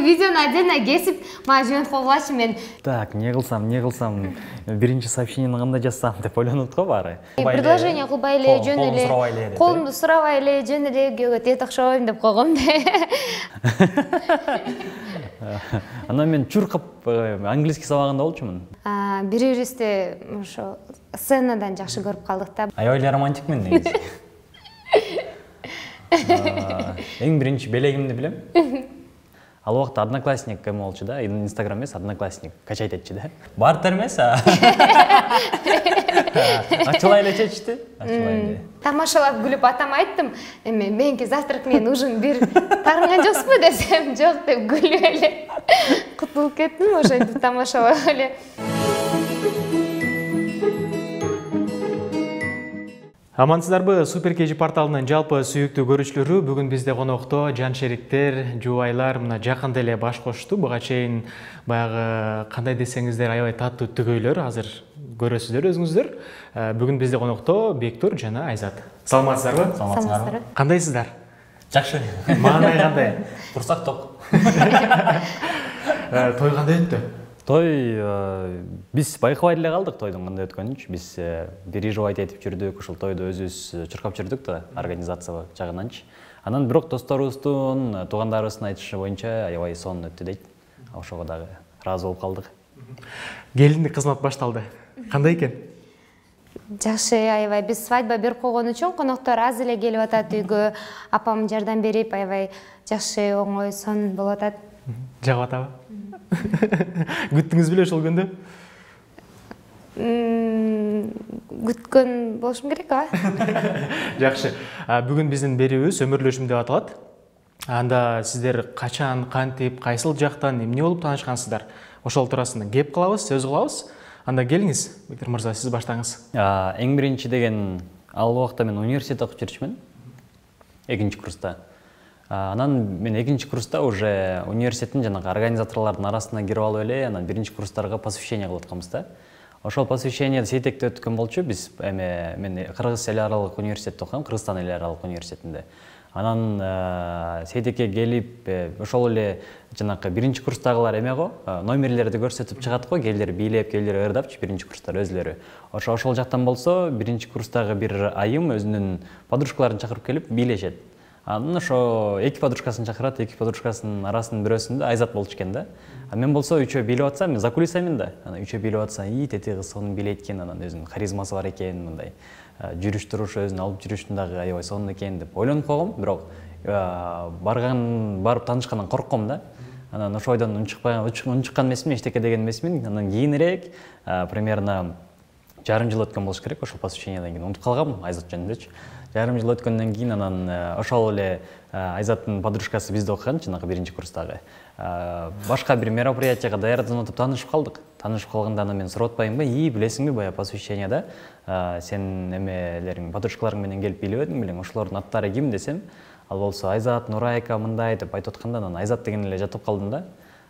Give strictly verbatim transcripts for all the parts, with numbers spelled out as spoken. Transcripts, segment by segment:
видеону отдельно кесип мага жиберип койгулачы, мен. Так, не кылсам, не кылсам, биринчи сообщениени кандай жазсам деп ойлонот го баары. Предложение кылбай эле, жөн эле. Колумду сурабай эле, жөн эле экөөгө тет окшобойм деп койгом да. Анан мен чуркап английский сабагында болчумун. Бири-бирибизди ошо сценадан жакшы көрүп калдык да. Аябай эле романтикмин негизи. Эң биринчи белегимди билем. Ал убакта одноклассник эме болчу да, Инстаграм эмес, одноклассник качать этчи да. Бартер эмес, а. Ачылай эле чечти, ачылай эле. Тамашалап күлүп атама айттым, эме меники завтрак менен ужин бир тарынган жоксузбу десем, жок деп күлүп эле кутулуп кеттим, ошентип тамашалап эле. Амансыздарбы, Супер кей жи порталынын жалпы сүйүктүү көрүүчүлөрү, бүгүн бизде конокто жан шериктер, жубайлар мына жакында эле баш кошту. Буга чейин баягы кандай десеңиздер аябай таттуу түгөйлөр азыр көрөсүздөр өзүңүздөр. Бүгүн бизде конокто Бектур жана Айзат. Саламатсыздарбы? Саламатсыздарбы? Кандайсыздар? Жакшы. Маанай кандай? Турсак ток. Той кандай өттү? Той биз байкабай эле калдык тойдун кандай өткөнүнчү. Биз переживать этип жүрдүк, ошол тойду өзүбүз чуркап жүрдүк да, организация жагынанчы. Анан бирок досторубуздун, туугандарыбыздын айтышы боюнча аябай сонун өттү дейт. Ошого дагы ыраазы болуп калдык. Келиндик кызмат башталды. Кандай экен? Жакшы, аябай биз свадьба берип койгон үчүн коноктор аз эле келип атат үйгө. Апам жардам берип, аябай жакшы, оңой, сонун болуп атат. Жагып атабы? Күттүңүз беле ошол күндү? Күткөн болушум керек, а? Жакшы. Бүгүн биздин берүүбүз өмүрлөшүм деп аталат. Анда сиздер качан, кантип, кайсыл жактан, эмне болуп таанышкансыздар? Ошол туурасында кеп кылабыз, сөз кылабыз. Анда келиңиз, Бектур мырза, сиз баштаңыз. Эң биринчи деген, ал убакта мен университет окуп жүрчүмүн. Экинчи курста. Анан мен экинчи курста уже университеттин жанагы организаторлордун арасына кирип алып эле, анан биринчи курстарга посвящение кылып атканбыз да. Ошол посвящениеди Сейтекте өткөн болчу. Биз эме мен Кыргыз эл аралык университетте окугам, Кыргызстан эл аралык университетинде. Анан Сейтекке келип, ошол эле жанагы биринчи курстагылар эме го, номерлерди көрсөтүп чыгат го, келдер бийлеп, келдер ырдапчы биринчи курстар өзлөрү. Ошо ошол жактан болсо, биринчи курстагы бир айым өзүнүн подружкаларын чакырып келип бийлешет. Анан ошо эки подружкасын чакырат, эки подружкасынын арасынын бирөөсүндө Айзат болчу экен да. А мен болсо үчөө бийлеп атсам, мен за кулисамын да. Анан үчөө бийлеп атсам, и тети кыз сонун бийлейт экен, анан өзүнүн харизмасы бар экен, мындай жүрүш турушу, өзүнүн алып жүрүшүн дагы аябай сонун экен деп ойлонуп койгом, бирок барган, барып таанышкандан коркком да. Анан ошо ойдон унчукпай, унчуккан эмесмин, эчтеке деген эмесмин. Анан кийинирээк примерно жарым жыл өткөн болуш керек, ошол посвящениеден кийин унутуп калгам Айзат жөнүндөчү. Жарым жыл өткөндөн кийин анан ошол эле Айзаттын подружкасы бизде окуган, жанагы биринчи курстагы. Башка бир мероприятияга даярданып танышып калдык. Танышып калганда анан мен сурап атпаймынбы, "И, билесиңби, бая посвящениеда сен эмелериң, подружкаларың менен келип бийлеп эдиң белең, ошолордун аттары ким?" десем, ал болсо Айзат, Нурайка мындай деп айтып атканда, анан Айзат деген эле жатып калдым да.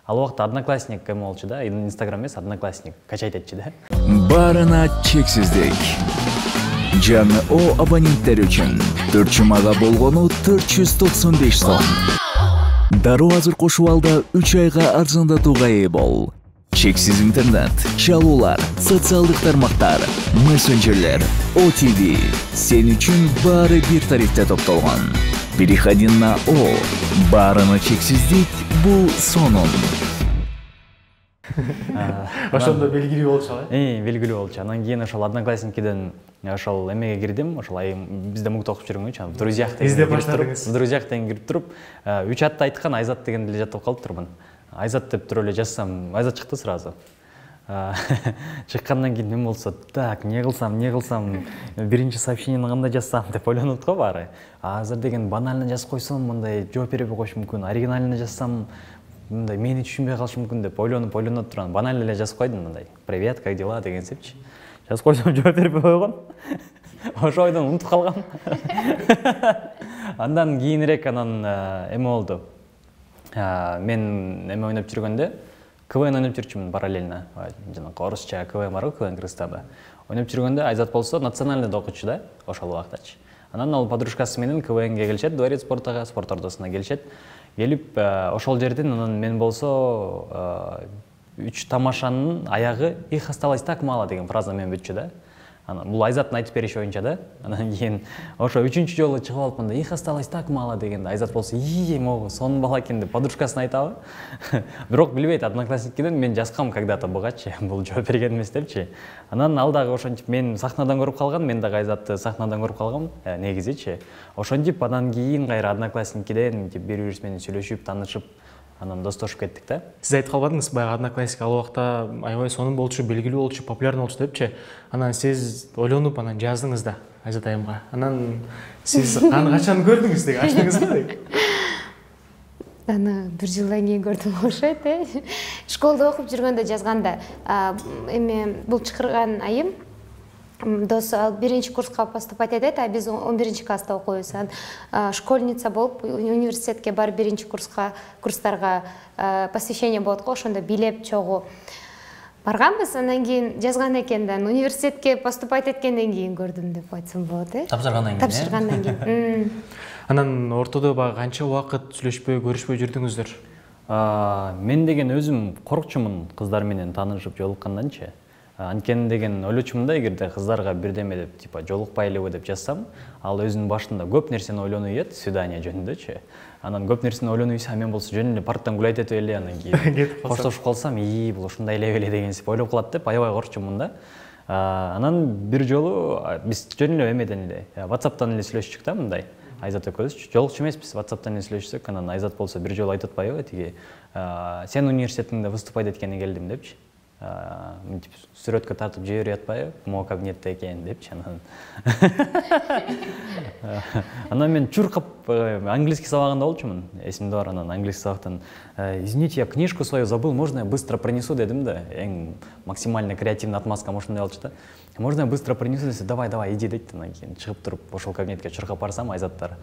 Ал убакта одноклассник эме болчу да, Инстаграм эмес, одноклассник качать этчи да. Барына чексиздик. Жаңы О абоненттер үчүн төрт жумага болгону төрт жүз токсон беш сом. Дароо азыр кошуп алда үч айга арзандатууга ээ бол. Чексиз интернет, чалуулар, социалдык тармактар, мессенджерлер, О Ти Ви сен үчүн баары бир тарифте топтолгон. Переходи на О. Барына чексиздик, бул сонун. Ошондо белгилүү болчу алай? Э, белгилүү болчу. Анан кийин ошол одноклассникиден ошол эмеге кирдим, ошол айым бизде мукта окуп жүргөнгө, в друзьях деген баштадыңыз. В друзьях деген кирип туруп, үч атты айткан Айзат деген эле жатып калыптырмын. Айзат деп туруп эле жазсам, Айзат чыкты сразу. Чыккандан кийин мен болсо, так, не кылсам, не кылсам, биринчи сообщениени кандай жазсам деп ойлонот го баары. Азыр деген банально жазып койсом, мындай жооп бербей коюш мүмкүн, оригинально жазсам, мындай мени түшүнбөй калышы мүмкүн деп ойлонуп ойлонуп турам. Банально эле жазып койдум мындай. Привет, как дела деген сепчи. Жазып койсом жооп бербей койгон. Ошо ойдон унутуп калгам. Андан кийинирээк анан эме болду. Мен эме ойноп жүргөндө КВН ойноп жүрчүмүн параллельно. Жанагы орусча КВН бар го, КВН Кыргызстанда. Ойноп жүргөндө Айзат болсо национальныйда окучу да, ошол убактачы. Анан ал подружкасы менен КВНге келишет, дворец спортага, спорт ордосуна келишет. Келип ошол жерден анан мен болсо үч тамашанын аягы их осталось так мало деген фраза менен бүтчү да. Анан бул Айзаттын айтып бериши боюнча да. Анан кийин ошо үчүнчү жолу чыгып алыпмын да, их осталось так мало дегенде Айзат болсо ии могу сонун бала экен деп подружкасына айтабы. Бирок билбейт, одноклассникиден мен жазгам когда-то бугачы, бул жооп берген эмес депчи. Анан ал дагы ошентип мен сахнадан көрүп калган, мен дагы Айзатты сахнадан көрүп калгам, негизичи. Ошентип анан кийин кайра одноклассникиден бири бирибиз менен сүйлөшүп, таанышып, анан достошуп кеттик да. Сиз айтып калбадыңыз, баягы одноклассник ал убакта аябай сонун болчу, белгилүү болчу, популярный болчу депчи. Анан сиз ойлонуп анан жаздыңыз да Айзат айымга. Анан сиз аны качан көрдүңүз деги, ачтыңызбы деги? Аны бир жылдан кийин көрдүм окшойт, э. Школда окуп жүргөндө жазганда, эме бул чакырган айым дос биринчи курска поступать этет, а биз он биринчи класста окуйбуз. Школьница болуп университетке барып биринчи курска курстарга посвящение болот го, ошондо билеп чогуу барганбыз. Андан кийин жазган экен да, университетке поступать эткенден кийин көрдүм деп айтсам болот, э. Тапшыргандан кийин. Тапшыргандан кийин. Анан ортодо баягы канча убакыт сүйлөшпөй, көрүшпөй жүрдүңүздөр? Мен деген өзүм коркчумун кыздар менен таанышып жолукканданчы. Анткени деген ойлочумун да, эгерде кыздарга бирдеме деп типа жолукпайлыбы деп жазсам, ал өзүнүн башында көп нерсени ойлонуп ийет, свидание жөнүндөчү. Анан көп нерсени ойлонуп ийсе, мен болсо жөн эле парктан гулять этип эле анан кийин коштошуп калсам, ии бул ушундай эле беле дегенсип ойлоп калат деп аябай коркчумун да. Анан бир жолу биз жөн эле эмеден эле WhatsApp'тан эле сүйлөшчүк да, мындай. Айзат экөөбүз жолукчу эмеспиз, WhatsApp'тан эле сүйлөшсөк, анан Айзат болсо бир жолу айтып атпайбы, тиги сен университетиңде выступать эткенине келдим депчи. Мынтип сүрөткө тартып жиберип атпайбы, могу кабинетте экен депчи. Анан анан мен чуркап английский сабагында болчумун, эсимде бар. Анан английский сабактан извините, я книжку свою забыл, можно я быстро принесу дедим да. Эң максимально креативный отмазкам ошондой болчу да. Можно я быстро принесу десе, давай давай иди дейт. Анан кийин чыгып туруп ошол кабинетке чуркап барсам, Айзаттар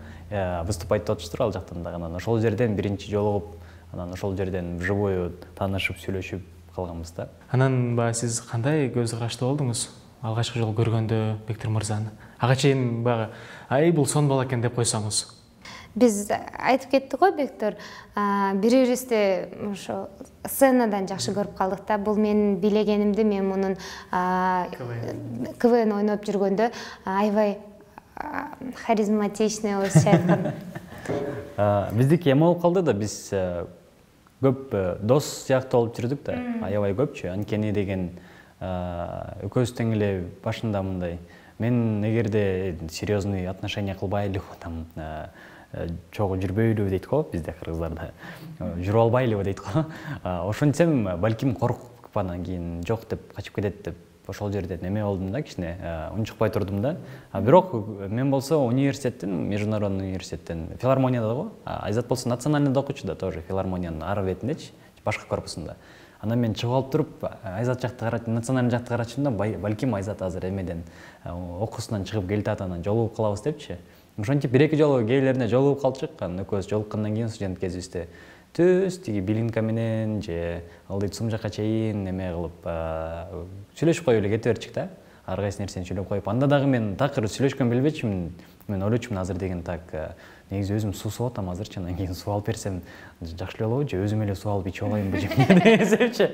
выступать этип атыштыр ал жактан дагы. Анан ошол жерден биринчи жолугуп, анан ошол жерден вживую таанышып сүйлөшүп калганбыз да. Анан баягы сиз кандай көз карашты болдуңуз алгачкы жолу көргөндө Бектур мырзаны? Ага чейин баягы ай бул сонун бала экен деп койсоңуз. Биз айтып кеттик го, Бектур, бири-бирибизди ошо сценадан жакшы көрүп калдык да. Бул менин билегенимди, мен мунун КВН ойноп жүргөндө аябай харизматичный болуп чайкан. Биздики эме болуп калды да, биз көп дос сыяктуу болуп жүрдүк да, аябай көпчү. Анткени деген экөөбүз тең эле башында мындай, мен эгерде серьезный отношения кылбайлыбы, там чогуу жүрбөйлүбү дейт го бизде кыргыздарда, жүрүп албайлыбы дейт го. Ошентсем балким коркуп анан кийин жок деп качып кетет деп ошол жерден эме болдум да, кичине унчукпай турдум да. Бирок мен болсо университеттен, международный университеттен, филармонияда го, Айзат болсо национальныйда окучу да, тоже филармониянын ары бетиндечи, башка корпусунда. Анан мен чыгып алып туруп, Айзат жакты карап, национальный жакты карачым да, балким Айзат азыр эмеден окуусунан чыгып келатат, анан жолугуп калабыз депчи. Ошентип бир-эки жолу кээ жолугуп калчык, анан экөөбүз жолуккандан кийин студент кезибизде түз тиги билинка менен же ылдый сум жака чейин эме кылып сүйлөшүп коюп эле кете берчик да. Ар кайсы нерсени сүйлөп коюп, анда дагы мен такыр сүйлөшкөн билбечимин. Мен ойлочумун азыр деген так негизи өзүм суу сууп атам азырчы, анан кийин суу алып берсем жакшы эле болобу, же өзүм эле суу алып ичип алайынбы деген эсепчи.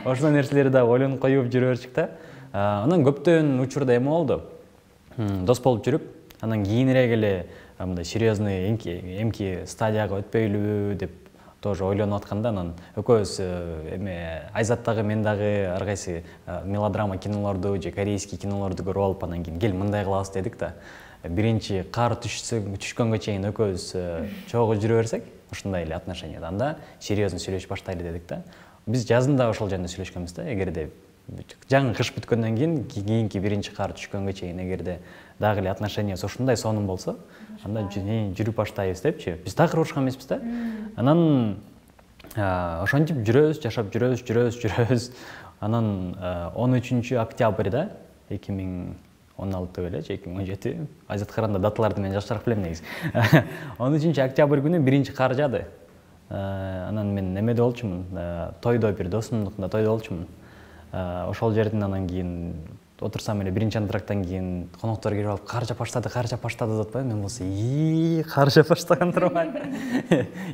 Ошол нерселерди дагы ойлонуп коюп жүрө берчик да. Анан көптөн учурда эме болду. Дос болуп жүрүп, анан кийинирээк эле мындай серьезный эмки стадияга өтпөйлүбү деп тоже ойлонуп атканда, анан экөөбүз эме Айзат дагы мен дагы ар кайсы мелодрама кинолорду же корейский кинолорду көрүп алып, анан кийин кел мындай кылабыз дедик да. Биринчи кар түшкөнгө чейин экөөбүз чогуу жүрө берсек, ушундай эле отношенияда анда серьезный сүйлөшүп баштайлы дедик да. Биз жазында да ошол жөнүндө сүйлөшкөнбүз да. Эгерде жаңы кыш бүткөндөн кийин кийинки биринчи кар түшкөнгө чейин эгерде дагы эле отношениясы ушундай сонун болсо, анда жүрүп баштайбыз депчи. Биз такыр урушкан эмеспиз да. Анан ошентип жүрөбүз, жашап жүрөбүз, жүрөбүз, жүрөбүз. Анан он үчүнчү октябрда эки миң он алты беле же эки миң он жети, Айзатка караганда даталарды мен жакшыраак билем негизи. он үчүнчү октябрь күнү биринчи кар жаады. Анан мен немеде болчумун, тойдо, бир досумдукунда тойдо болчумун. Ошол жерден анан кийин отурсам эле биринчи антрактан кийин коноктор кирип алып кар жаап баштады, кар жаап баштады деп атпайбы? Мен болсо ии кар жаап баштаган турбай.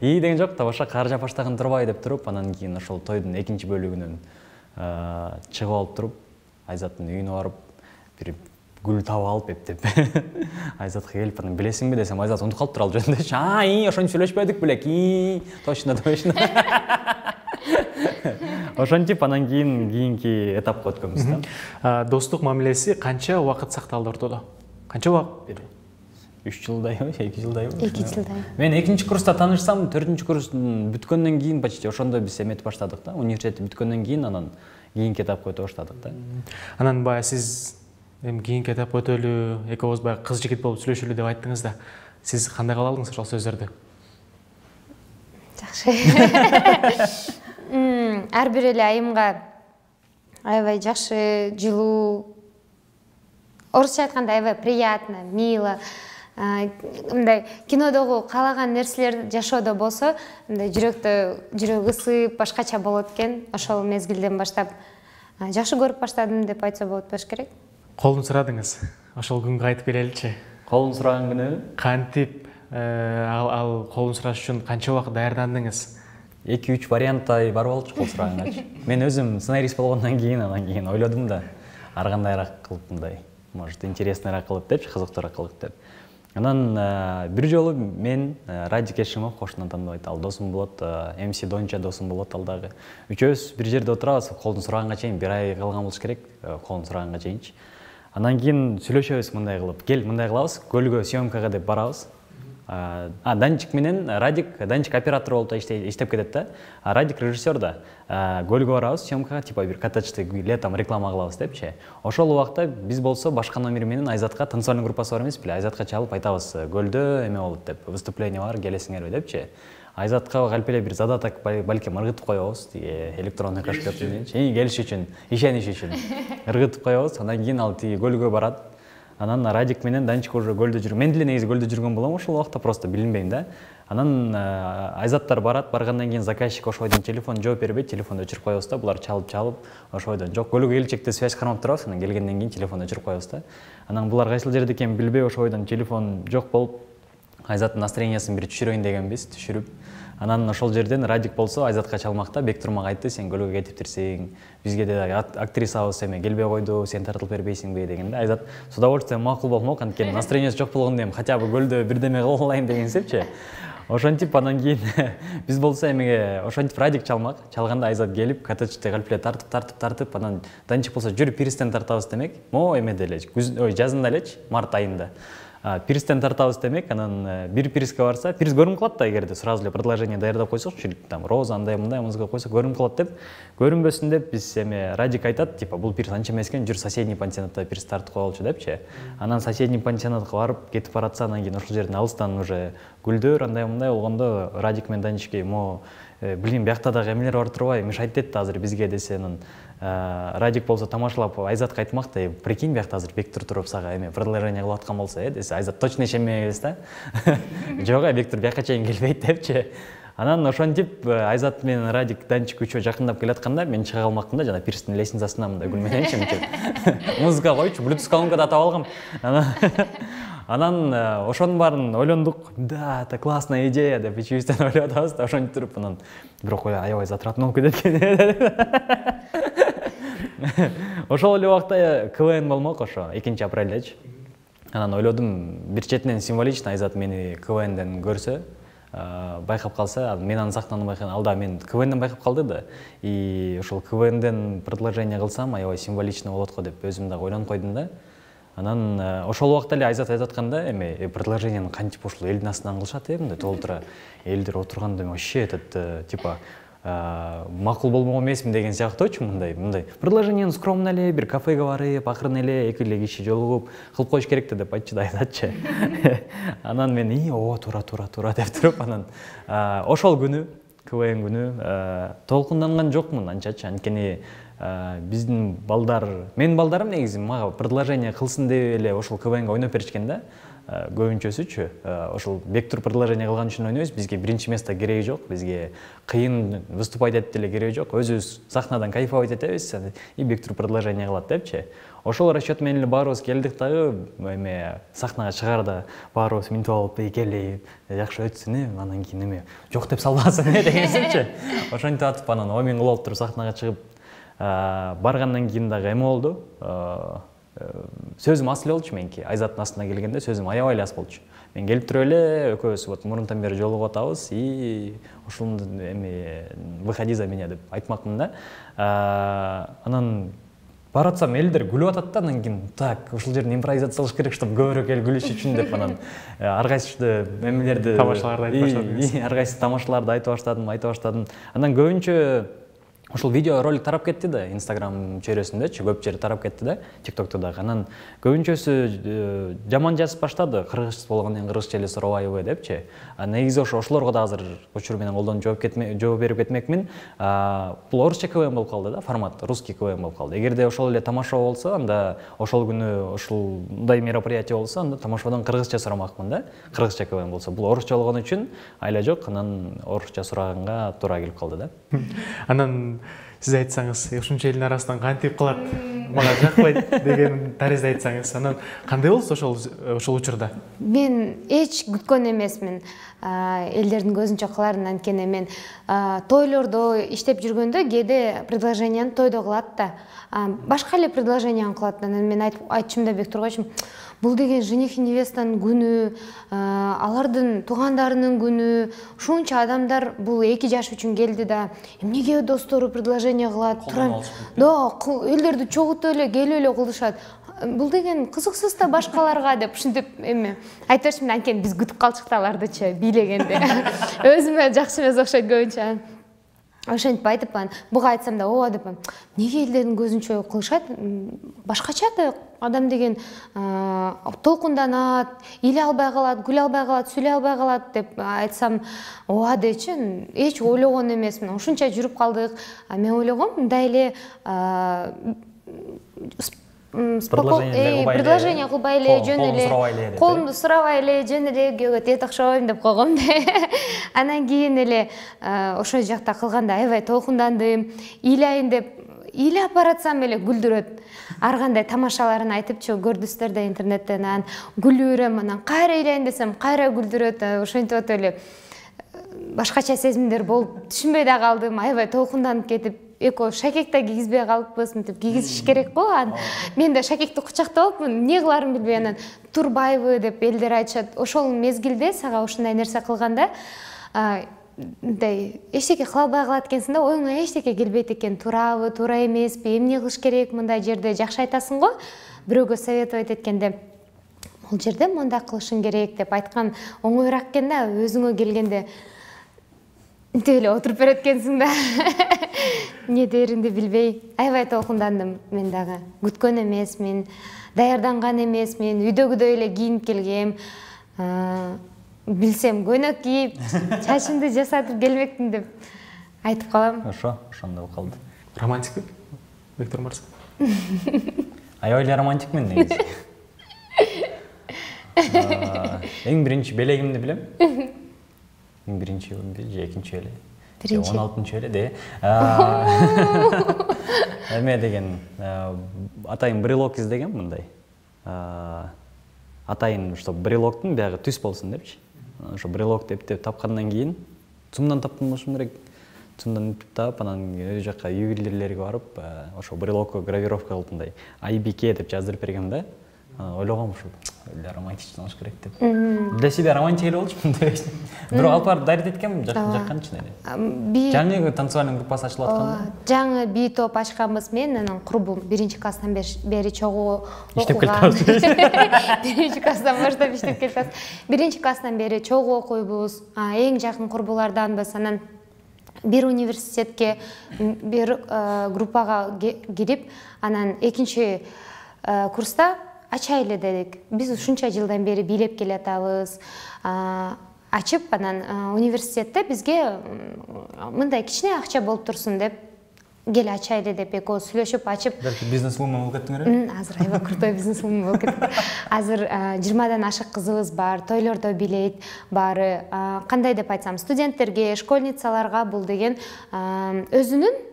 ии деген жок, табаша кар жаап баштаган турбай деп туруп, анан кийин ошол тойдун экинчи бөлүгүнөн чыгып алып туруп, Айзаттын үйүнө барып, бир гүл таап алып эптеп Айзатка келип, анан билесиңби десем, Айзат унутуп калыптыр ал жөнүндө. А, ии, ошентип сүйлөшпөдүк белек. ии, точно, точно. Ошентип анан кийин кийинки этапка өткөнбүз да. Достук мамилеси канча убакыт сакталды ортодо? Канча убакыт? үч жылдайбы, эки жылдайбы? эки жылдай. Мен экинчи курста таанышсам, төртүнчү курстун бүткөндөн кийин почти ошондо биз эметип баштадык да. Университет бүткөндөн кийин анан кийинки этапка өтө баштадык да. Анан баягы сиз эми кийинки этапка өтөлү, экөөбүз баягы кыз жигит болуп сүйлөшөлү деп айттыңыз да. Сиз кандай кабыл алдыңыз ошол сөздөрдү? Жакшы. Ар бир эле айымга аябай жакшы, жылуу, орусча айтканда аябай приятно, мило, мындай кинодогу каалаган нерселер жашоодо болсо, мындай жүрөктө жүрөк ысып, башкача болот экен. Ошол мезгилден баштап жакшы көрүп баштадым деп айтса болот болуш керек. Колун сурадыңыз. Ошол күнгө айтып келеличи. Колун сураган күнү Кантип ал колун сураш үчүн канча убакыт даярдандыңыз? эки үч варианттай бар болчу кол сураганга. Мен өзүм сценарист болгондон кийин анан кийин ойлодум да, ар кандайраак кылып мындай, может, интересныйраак кылып депчи, кызыктуураак кылып деп. Анан бир жолу мен Радик Эшимов кошунан тандабайт, ал досум болот, эм си Донча досум болот ал дагы. Үчөөбүз бир жерде отурабыз, колдун сураганга чейин бир ай калган болуш керек, колдун сураганга чейинчи. Анан кийин сүйлөшөбүз мындай кылып, кел мындай кылабыз, көлгө съемкага деп барабыз. А Данчик менен Радик, Данчик оператор болуп иштеп кетет да. А Радик режиссер да. Көлгө барабыз съемкага, типа бир коттеджде летом реклама кылабыз депчи. Ошол убакта биз болсо башка номер менен Айзатка танцевальный группасы бар эмес беле, Айзатка чалып айтабыз, көлдө эме болот деп, выступление бар, келесиңерби депчи. Айзатка калп эле бир задаток балким ыргытып коебуз, тиги электронный кошкеп мененчи, келиш үчүн, ишениш үчүн ыргытып коебуз. Андан кийин ал тиги көлгө барат. Анан Радик менен Данчик уже көлдө жүргөн. Мен деле негизи көлдө жүргөн болом ошол убакта, просто билинбейм да. Анан Айзаттар барат, баргандан кийин заказчик ошойдон телефон жооп бербейт, телефонду өчүрүп коебуз да. Булар чалып-чалып, ошойдон жок, көлгө келчекте связь кармап турабыз, анан келгенден кийин телефонду өчүрүп коебуз да. Анан булар кайсыл жерде экенин билбей, ошойдон телефон жок болуп, Айзаттын настроениясын бир түшүрөйүн дегенбиз, түшүрүп. Анан ошол жерден Радик болсо Айзатка чалмакта Бектур мага айтты, сен көлгө кетиптирсиң, бизге да актрисабыз эме келбей койду, сен тартылып бербейсиңби дегенде, Айзат с удовольствием макул болмок, анткени настроениясы жок болгондо эми хотя бы көлдө бирдеме кылып алайын дегенсепчи. Ошентип анан кийин биз болсо эмеге ошентип Радик чалмак, чалганда Айзат келип, коттеджде калп эле тартып, тартып, тартып, анан Данчик болсо жүр пирстен тартабыз демек. Мо эмеде эле, ой, жазында элечи, март айында. Пирстен тартабыз демек, анан бир пирске барса, пирс көрүнүп калат да, эгерде сразу эле предложение даярдап койсокчу, там роза андай мындай музыка койсо көрүнүп калат деп, көрүнбөсүн деп биз эме Радик айтат, типа бул пирс анча эмес экен, жүр соседний пансионатта пирс тартып коелучу депчи. Анан соседний пансионатка барып кетип баратса, анан кийин ошол жерден алыстан уже гүлдөр андай мындай болгондо Радик менен Данчикке, мо билин биякта дагы эмелер бар турбайбы, мешайт детти азыр бизге десе, анан Радик болсо тамашалап Айзатка айтмак да, прикинь, биякта азыр Бектур туруп сага эме предложение кылып аткан болсо, э десе, Айзат точно ишенбейбиз да. Жок, Бектур бияка чейин келбейт депчи. Анан ошентип Айзат менен Радик, Данчик үчөө жакындап келатканда мен чыга калмакмын да, жана пирстин лестницасына мындай гүл мененчи мынтип музыка койчу, Bluetooth колонка да таап алгам. Анан ошонун баарын ойлондук. Да, это классная идея деп ичибизден ойлоп атабыз да, ошентип туруп анан бирок аябай затратный болуп кетет экен. Ошол эле убакта КВН болмок, ошо экинчи апрелдечи. Анан ойлодум, бир четинен символично Айзат мени КВНден көрсө, байкап калса, мен аны сахнанын байкаган, ал да мен КВНден байкап калды да. И ошол КВНден предложение кылсам, аябай символично болот го деп өзүм дагы ойлонуп койдум да. Анан ошол убакта эле Айзат айтып атканда, эме предложениени кантип ушул элдин астынан кылышат, э, мындай толтура элдер отурганда вообще этот типа макул болмок эмесмин деген сыяктуучу, мындай мындай предложениени скромно эле бир кафеге барып, акырын эле эки эле киши жолугуп кылып коюш керек деп айтчу да Айзатчы. Анан мен и о туура туура туура деп туруп, анан ошол күнү, КВН күнү толкунданган жокмун анчачы, анткени биздин балдар, менин балдарым негизи мага предложение кылсын деп эле ошол КВНге ойноп беришкен да. көбүнчөсүчү ошол бек туруп предложение кылган үчүн ойнойбуз. Бизге биринчи место кереги жок, бизге кыйын выступать этип деле кереги жок. Өзүбүз сахнадан кайфовать этебиз и бек туруп предложение кылат депчи. Ошол расчет менен эле баарыбыз келдик дагы, эме сахнага чыгаарда баарыбыз минтип алып келип, жакшы өтсүн, анан кийин эме жок деп салбасын дегенсичи. Ошентип атып анан ой мен кылып туруп сахнага чыгып баргандан кийин дагы эме болду. Сөзүм ас эле болчу меники. Айзаттын астына келгенде сөзүм аябай эле ас болчу. Мен келип туруп эле экөөбүз вот мурунтан бери жолугуп атабыз и ушул эми выходи за меня деп айтмакмын да. Анан баратсам элдер күлүп атат да, анан кийин так ушул жерден импровизация кылыш керек, чтобы көбүрөөк эл күлүш үчүн деп анан ар кайсы эмелерди тамашаларды айтып баштадым. Ар кайсы тамашаларды айтып баштадым, айтып баштадым. Анан көбүнчө ошол видео ролик тарап кетти да, Instagram чөйрөсүндөчү көп жери тарап кетти да, TikTokто дагы. Анан көбүнчөсү жаман жазып баштады, кыргыз болгондон кийин кыргызча эле сурабайбы депчи. Негизи ошо ошолорго да азыр учур менен колдонуп жооп кетме, жооп берип кетмекмин. Бул орусча КВМ болуп калды да, формат русский КВМ болуп калды. Эгерде ошол эле тамашоо болсо, анда ошол күнү ушундай мероприятие болсо, анда тамашоодон кыргызча сурамакмын да. Кыргызча КВМ болсо, бул орусча болгон үчүн айла жок, анан орусча сураганга туура келип калды да. Анан сиз айтсаңыз, ушунча элдин арасынан кантип кылат, мага жакпайт деген таризде айтсаңыз, анан кандай болсу ошол ошол учурда? Мен эч күткөн эмесмин элдердин көзүнчө кыларын, анткени мен тойлордо иштеп жүргөндө кээде предложенияны тойдо кылат да, башка эле предложенияны кылат. Анан мен айтчумда бек тургачым, бул деген жених и невестанын күнү, алардын туугандарынын күнү, ушунча адамдар бул эки жаш үчүн келди да, эмнеге достору предложение кылат, турам. Да, элдерди чогултуп эле келип эле кылышат. Бул деген кызыксыз да башкаларга деп ушинтип эме айтып атышмын, анткени биз күтүп калчык да алардычы бийлегенде. Өзүмө жакшы эмес окшойт көбүнчө. Ошентип айтып, буга айтсам да ооба деп, эмнеге элдердин көзүнчө кылышат, башкача да адам деген толкунданат, иле албай калат, күлө албай калат, сүйлөй албай калат деп айтсам ооба дечи, эч ойлогон эмесмин. Ушунча жүрүп калдык. Мен ойлогом мындай эле предложение кылбай эле, жөн эле, колумду сурабай эле, жөн эле күйөөгө тет окшойм деп койгом да. Анан кийин эле ошол жакта кылганда аябай толкундандым, ыйлайын деп ыйлап баратсам эле күлдүрөт. Ар кандай тамашаларын айтыпчы көрдүсүздөр да интернеттен, анан күлүрөм, анан кайра ыйлайын десем кайра күлдүрөт. Ошентип атып эле башкача сезимдер болуп түшүнбөй да калдым, аябай толкунданып кетип, эко шакек да кийгизбей калыппыз, мынтип кийгизиш керек го. Мен да шакекти кучактап алыпмын, эмне кыларымды билбей, анан турбайбы деп элдер айтышат. Ошол мезгилде сага ушундай нерсе кылганда мындай эчтеке кыла албай калат экенсиң да, оюңа эчтеке келбейт экен, туурабы, туура эмеспи, эмне кылыш керек мындай жерде, жакшы айтасың го. Бирөөгө советовать эткенде бул жерде мындай кылышың керек деп айткан оңоюраак экен да, өзүңө келгенде мынтип эле отуруп берет экенсиң да. Эмне дээримди билбей, аябай толкундандым. Мен дагы күткөн эмесмин, даярданган эмесмин, үйдөгүдөй эле кийинип келгем. Билсем көйнөк кийип, чачымды жасатып келбекмин деп айтып калам. Ошо, ошондой болуп калды. Романтикпи? Бектур мырза. Аябай эле романтикмин негизи. Эң биринчи белегимди билем. Эң биринчи же экинчи эле. он алтынчы эле де. Эме деген атайын брелок издегем мындай. Атайын, что брелоктун биягы түз болсун депчи. Ошо брелокты эптеп тапкандан кийин цумдан таптым болушум керек. Цумдан эптеп таап, анан үй жакка ювелирлерге барып, ошо брелокко гравировка кылып мындай ай би кей деп жаздырып бергем да. Ойлогом ушул эле романтичный болуш керек деп. Для себя романтик эле болчумун деп. Бирок алып барып дарит эткем, жакканчы эле. Жаңы танцевальный группасы ачылып атканда. Жаңы би топ ачканбыз мен, анан курбум биринчи класстан бери чогуу иштеп келатабыз. Биринчи класстан баштап иштеп келатабыз. Биринчи класстан бери чогуу окуйбуз. Эң жакын курбуларданбыз. Анан бир университетке, бир группага кирип, анан экинчи курста ачайлы дедик. Биз ушунча жылдан бери бийлеп келатабыз. Ачып, анан университетте бизге мындай кичине акча болуп турсун деп кел ачайлы деп экөө сүйлөшүп ачып. Балки бизнес-вумен болуп кеттиңер? Азыр аябай крутой бизнес-вумен болуп кеттик. Азыр жыйырмадан ашык кызыбыз бар, тойлордо бийлейт баары. Кандай деп айтсам, студенттерге, школьницаларга бул деген өзүнүн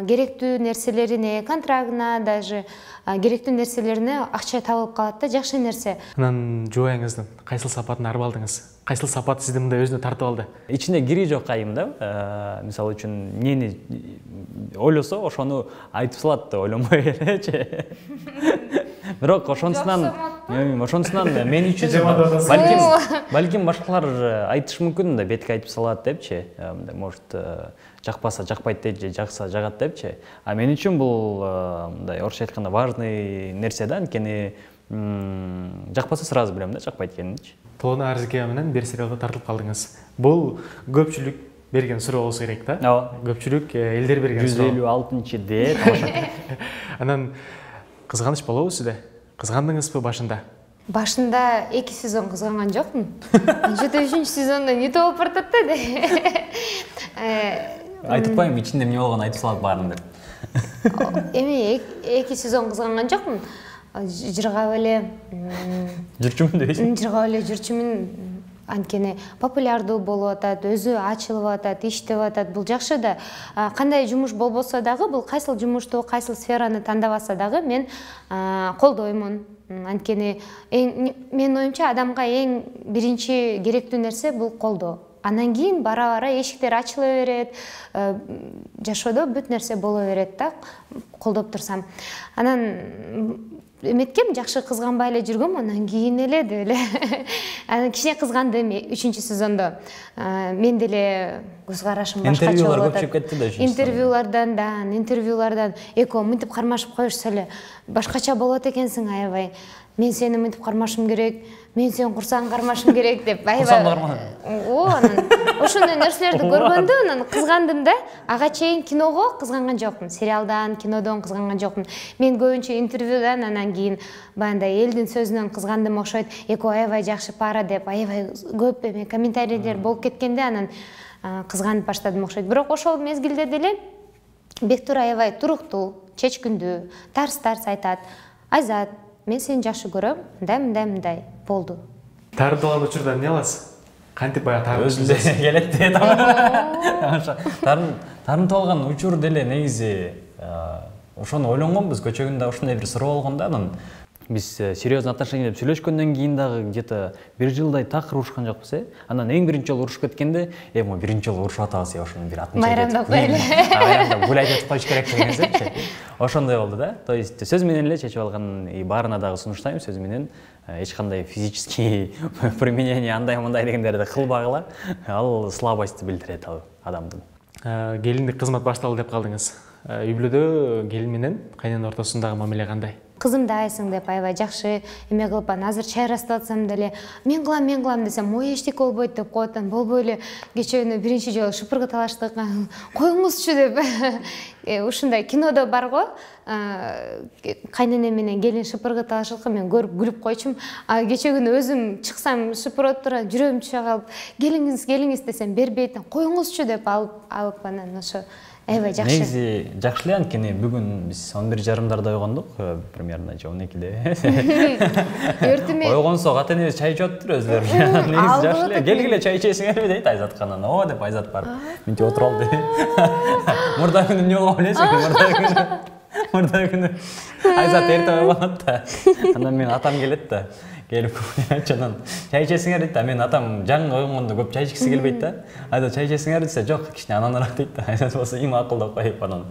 керектүү нерселерине, контрагына, даже керектүү нерселерине акча табылып калат да, жакшы нерсе. Анан жубайыңыздын кайсыл сапатын арып алдыңыз? Кайсыл сапат сизди мындай өзүнө тартып алды? Ичинде кири жок айым да. Мисалы үчүн эмнени ойлосо, ошону айтып салат деп ойлонбой элечи. Бирок ошонусунан, ошонусунан мен үчүн балким балким башкалар айтышы мүмкүн да, бетке айтып салат депчи. Может жакпаса жакпайт дейт же жакса жагат депчи. А мен үчүн бул мындай орусча айтканда важный нерсе да, анткени жакпаса сразу билем да, жакпайт экенинчи. Тоона Арзыкеева менен бир сериалда тартылып калдыңыз. Бул көпчүлүк берген суроо болсо керек да. Ооба. Көпчүлүк элдер берген суроо. жүз элүү алтынчы дээ. Анан кызганыч болобу сизде? Кызгандыңызбы башында? Башында эки сезон кызганган жокмун. Жети үчүнчү сезондо эмне болуп баратат да. Айтып коеюн, ичинде эмне болгонун айтып салат баарын деп. Эми эки сезон кызганган жокмун. Жыргап эле жүрчүмүн дейсиң? Жыргап эле жүрчүмүн. Анткени популярдуу болуп атат, өзү ачылып атат, иштеп атат. Бул жакшы да. Кандай жумуш болбосо дагы, бул кайсыл жумушту, кайсыл сфераны тандабаса дагы мен колдоймун. Анткени менин оюмча адамга эң биринчи керектүү нерсе бул колдоо. Андан кийин бара-бара эшиктер ачыла берет, жашоодо бүт нерсе боло берет да, колдоп турсам. Анан эметкем, жакшы кызганбай эле жүргөм, анан кийин эле деп эле. Анан кичине кызгандым үчүнчү сезондо. Мен деле көз карашым башкача болуп атат. Интервьюлар көпчүп кетти да үчүнчү. Интервьюлардан да, интервьюлардан экөө мынтип кармашып коюшса эле, башкача болот экенсиң аябай. Мен сени мынтип кармашым керек, мен сени курсаң кармашым керек деп аябай. О, анан ошондой нерселерди көргөндө анан кызгандым да. Ага чейин киного кызганган жокмун, сериалдан, кинодон кызганган жокмун. Мен көбүнчө интервьюдан, анан кийин баягындай элдин сөзүнөн кызгандым окшойт. Экөө аябай жакшы пара деп аябай көп эме комментарийлер болуп кеткенде анан кызганып баштадым окшойт. Бирок ошол мезгилде деле Бектур аябай туруктуу, чечкиндүү, тарс-тарс айтат. Айзат, мен сени жакшы көрөм, мындай, мындай, мындай болду. Тарынтылган учурда эмне аласыз? Кантип баягы тарынып өзүнө келет да. Тарын тарынтылган учур деле негизи ошону ойлонгонбуз, көчөгүндө ушундай бир суроо болгон да. Анан биз серьезный отношения деп сүйлөшкөндөн кийин дагы где-то бир жылдай такыр урушкан жокпуз, э. Анан эң биринчи жолу урушуп кеткенде, э, мо биринчи жолу урушуп атабыз, ошонун бир атын чейдеп. Майрамдап коелу. Майрамдап гулять этип коюш керек деген сезепчи. Ошондой болду да. То есть сөз менен эле чечип алган, и баарына дагы сунуштайм, сөз менен эч кандай физический применение андай мындай дегендерди кылбагыла. Ал слабость билдирет ал адамдын. Келиндик кызмат башталды деп калдыңыз. Үй бүлөдө келин менен кайнана ортосундагы мамиле кандай? Кызымды айсың деп аябай жакшы эме кылып, азыр чайрастып атсам деле мен кылам, мен кылам десем, ой эчтеке болбойт деп коет. Болбой эле кечээ күнү биринчи жолу шыпыргы талаштык. Коюңузчу деп. Ушундай кинодо бар го. Кайнене менен келин шыпыргы талашыкты мен көрүп күлүп койчумун. А кечээ күнү өзүм чыксам шыпырып тура жүрөгүм түшө калып, келиңиз, келиңиз десем бербейт. Коюңузчу деп алып алып анан ошо аябай жакшы. Негизи жакшы эле, анткени бүгүн биз он бир жарымдарда ойгондук, примерно же он экиде. Өртүмө. Ойгонсо ата энебиз чай ичип атыптыр өзлөрү. Негизи жакшы эле. Келгиле чай ичесиңерби дейт Айзатканан. О деп Айзат барып мынтип отуруп алды. Мурда күнү эмне болгон билесиңби? Мурда күнү. Мурда күнү Айзат эрте ойгонот да. Анан мен атам келет да. Келип чанан чай ичесиңер дейт да. Мен атам жаңы ойгонгондо көп чай ичкиси келбейт да. Айда чай ичесиңер десе, жок, кичине ананыраак дейт да. Айзат болсо эми акылдап коюп анан.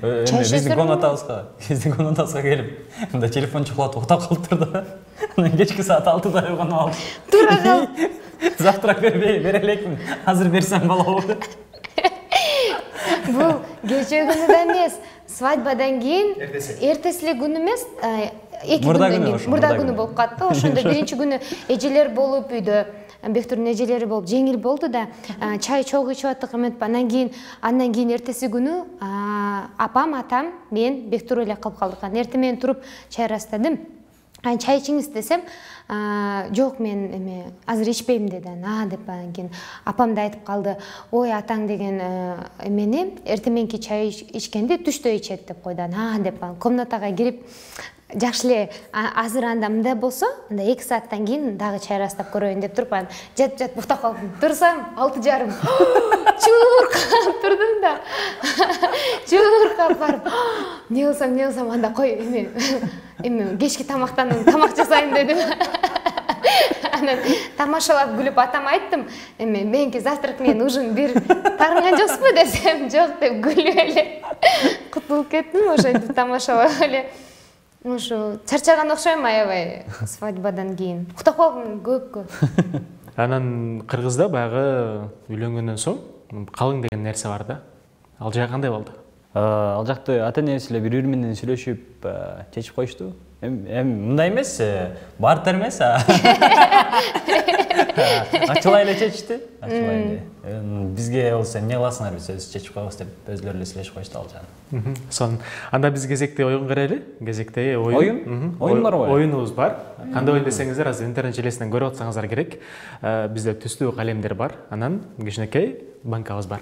Биздин комнатабызга, биздин комнатабызга келип, мында телефон чукулатып уктап калыптыр да. Анан кечки саат алтыда ойгонуп алып. Тура кал. Завтрак бербей, бере элекмин. Азыр берсем болобу? Бул кечээ күнү да эмес, свадьбадан кийин эртеси күнү эмес, эки күндөн кийин мурда күнү болуп калды. Ошондо биринчи күнү эжелер болуп үйдө, Бектурдун эжелери болуп жеңил болду да, чай чогуу ичип аттык эметпи. Андан кийин андан кийин эртеси күнү апам, атам, мен Бектур эле калып калдык. Эртең менен туруп чайрастадым. чай ичиңиз десем, жок мен эме азыр ичпейм деди. А деп анан кийин апам да айтып калды, ой атаң деген эмени эртеменки чай ичкенди түштө ичет деп койду. А деп комнатага кирип жакшы эле азыр анда мындай болсо, анда эки сааттан кийин дагы чайрастап көрөйүн деп туруп анан жатып жатып уктап калдым. Турсам алты жарым. Чуркап турдум да. Чуркап барып, не кылсам, не кылсам, анда кой эме эме кечки тамактан тамак жасайын дедим. Анан тамашалап күлүп атама айттым, эме меники завтрак менен ужин бир тарынган жоксузбу десем, жок деп күлүп эле кутулуп кеттим. Ошентип тамашалап эле. Ошо чарчаган окшойм аябай свадьбадан кийин. Уктап калдым көпкө. Анан Кыргызда баягы үйлөнгөндөн соң калың деген нерсе бар да. Ал жак кандай болду? Ал жакты ата-энеси эле бири-бири менен сүйлөшүп чечип коюшту. Эми мындай эмес, бартер эмес. Ачылай эле чечти. Ачылай эле. Бизге болсо эмне кыласыңар, биз өз чечип коебуз деп өзлөрү эле сүйлөшүп коюшту ал жагын. Сон анда биз кезекте оюн карайлы. Кезекте оюн. Оюн? Оюн барбы? Оюнубуз бар. Кандай оюн десеңиздер, азыр интернет желесинен көрүп атсаңыздар керек. Бизде түстүү калемдер бар. Анан кичинекей банкабыз бар.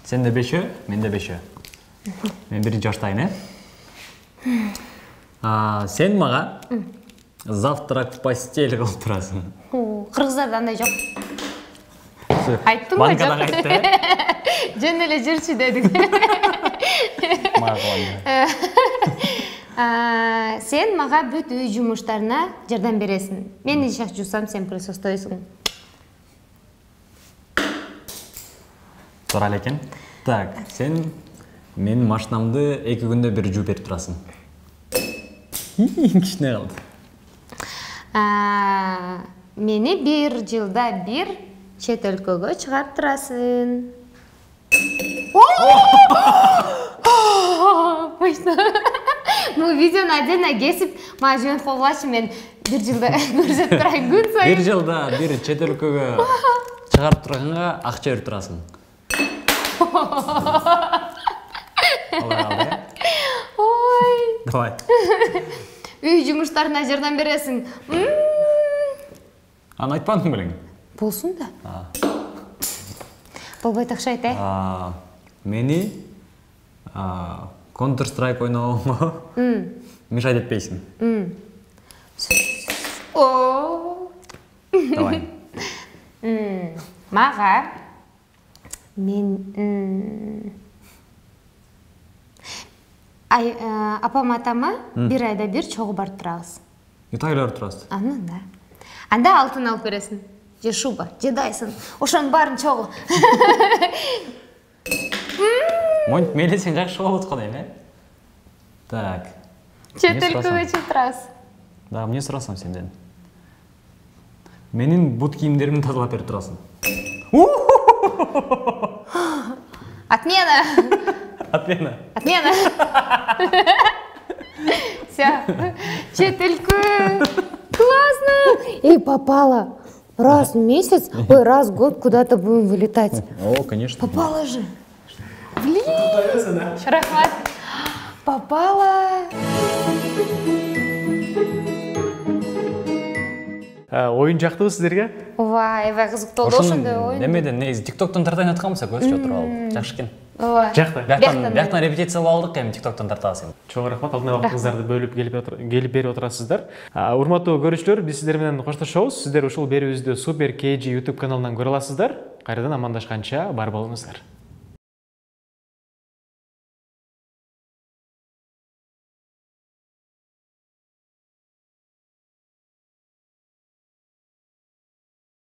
Сенде бешөө, менде бешөө. Мен биринчи баштайын, э? Сен мага завтрак в постель кылып турасың. Кыргыздарда андай жок. Айттым го, жок. Банкадан айтты, э? Жөн эле жүрчү дедик. Сен мага бүт үй жумуштарына жардам бересиң. Мен ишак жуусам, сен присутствуйсуң. Туура эле экен. Так, сен менин машинамды эки күндө бир жууп берип турасың. Кичине калды. Мени бир жылда бир чет өлкөгө чыгарып турасың. Бул видеону отдельно кесип, мага жөнөтүп койгулачы, мен бир жылда көрсөтүп турайын күн сайын. Бир жылда бир чет өлкөгө чыгарып турганга акча берип турасың. Ой. Давай. Үй жумуштарына жардам бересиң. Аны айтпадың белең? Болсун да. Болбойт окшойт, э? Мени Counter Strike ойногонго мешать этпейсиң. Давай. Мага мен апам атама бир айда бир чогуу барып турабыз. Италияга барып турасыз? Анан да. Анда алтын алып бересиң. Же шуба, же дайсын. Ошонун баарын чогуу. Монт мелесең жакшы болот го дейм, э? Так. Чет өлкөгө чыгып турасыз. Да, эмне сурасам сенден? Менин бут кийимдеримди тазалап берип турасың. Отмена. Отмена. Отмена. Всё. Чет өлкө. Классно. Эй, попала. Раз в месяц, ой, раз в год куда-то будем вылетать. О, конечно. Попала же. Блин. Рахмат. Попала. Оюн жактыбы сиздерге? Ооба, аябай кызыктуу болду ошондой оюн. Немеден негизи тиктоктон тартайын атканбыз, көзчү отуруп алып. Жакшы экен. Ооба. Жакты. Бияктан репетиция кылып алдык, эми тиктоктон тартабыз эми. Чоң рахмат, алдына убактыңыздарды бөлүп келип берип отурасыздар. Урматтуу көрүүчүлөр, биз сиздер менен коштошобуз. Сиздер ушул берүүбүздү Super кей джи YouTube каналынан көрө аласыздар. Кайрадан амандашканча бар болуңуздар.